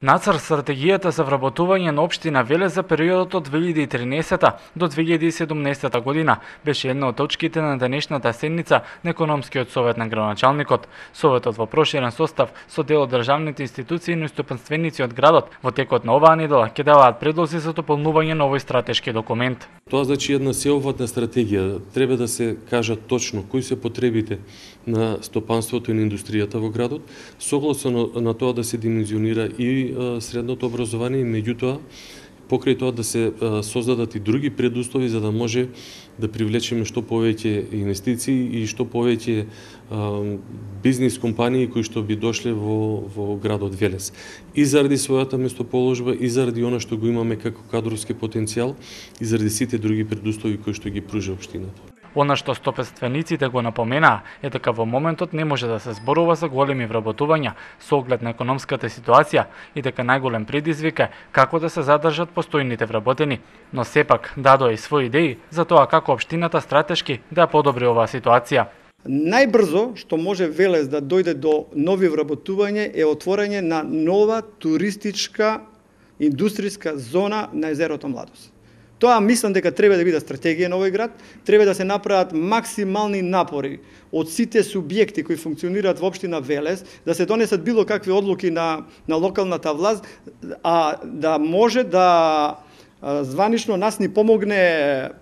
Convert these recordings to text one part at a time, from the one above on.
Нацрт стратегијата за вработување на општина Велес за периодот од 2013 до 2017 година беше една од точките на денешната седница на Економскиот совет на градоначалникот. Советот во проширен состав со дел од државните институции и стопанственици од градот во текот на оваа недела ќе даваат предлози за дополнување на овој стратешки документ. Тоа значи една сеопфатна стратегија. Треба да се кажат точно кои се потребите на стопанството и на индустријата во градот, согласно на тоа да се димензионира и средното образование, и меѓутоа покрај тоа да се создадат и други предуслови за да може да привлечеме што повеќе инвестиции и што повеќе бизнис компании кои што би дошле во градот Велес. И заради својата местоположба, и заради она што го имаме како кадровски потенцијал, и заради сите други предуслови кои што ги пружа општината. Она што стопанствениците го напоменаа е дека во моментот не може да се зборува за големи вработувања со оглед на економската ситуација и дека најголем предизвик е како да се задржат постојните вработени, но сепак дадоа и своји идеи за тоа како општината стратешки да ја подобри оваа ситуација. Најбрзо што може Велес да дојде до нови вработувања е отворање на нова туристичка индустријска зона на езерото Младост. Тоа мислам дека треба да биде стратегија на овој град, треба да се направат максимални напори од сите субјекти кои функционираат во општина Велес, да се донесат било какви одлуки на локалната власт, а да може да званично нас ни помогне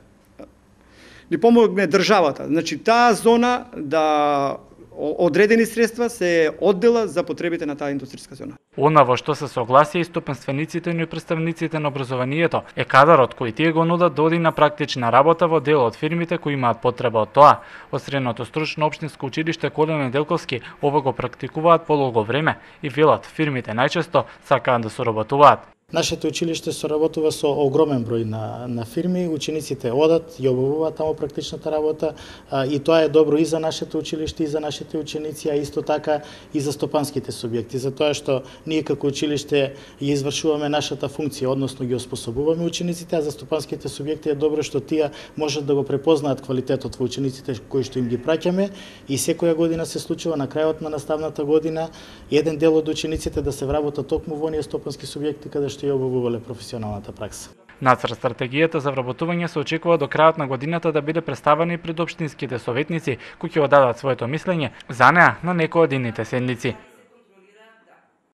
државата. Значи таа зона да одредени средства се оддела за потребите на таа индустријска зона. Она во што се согласија и стопанствениците и представниците на образованието е кадарот кој тие го нудат да оди на практична работа во дел од фирмите кои имаат потреба од тоа. Од Средното стручно општинско училиште Коле Неделковски ова го практикуваат полого време и велат фирмите најчесто сакаат да соработуваат. Нашето училиште соработува со огромен број на фирми, учениците одат и обавуваат таму практичната работа и тоа е добро и за нашето училиште и за нашите ученици, а исто така и за стопанските субјекти, затоа што ние како училиште ја извршуваме нашата функција, односно ги оспособуваме учениците, а за стопанските субјекти е добро што тие можат да го препознаат квалитетот во учениците кои што им ги праќаме и секоја година се случува на крајот на наставната година еден дел од учениците да се вработат токму во оние стопански субјекти каде што ја обавувале професионалната пракса. Нацрт стратегијата за вработување се очекува до крајот на годината да биде представена и пред општинските советници кои ќе дадат своето мислење за неа на некој од идните седмици.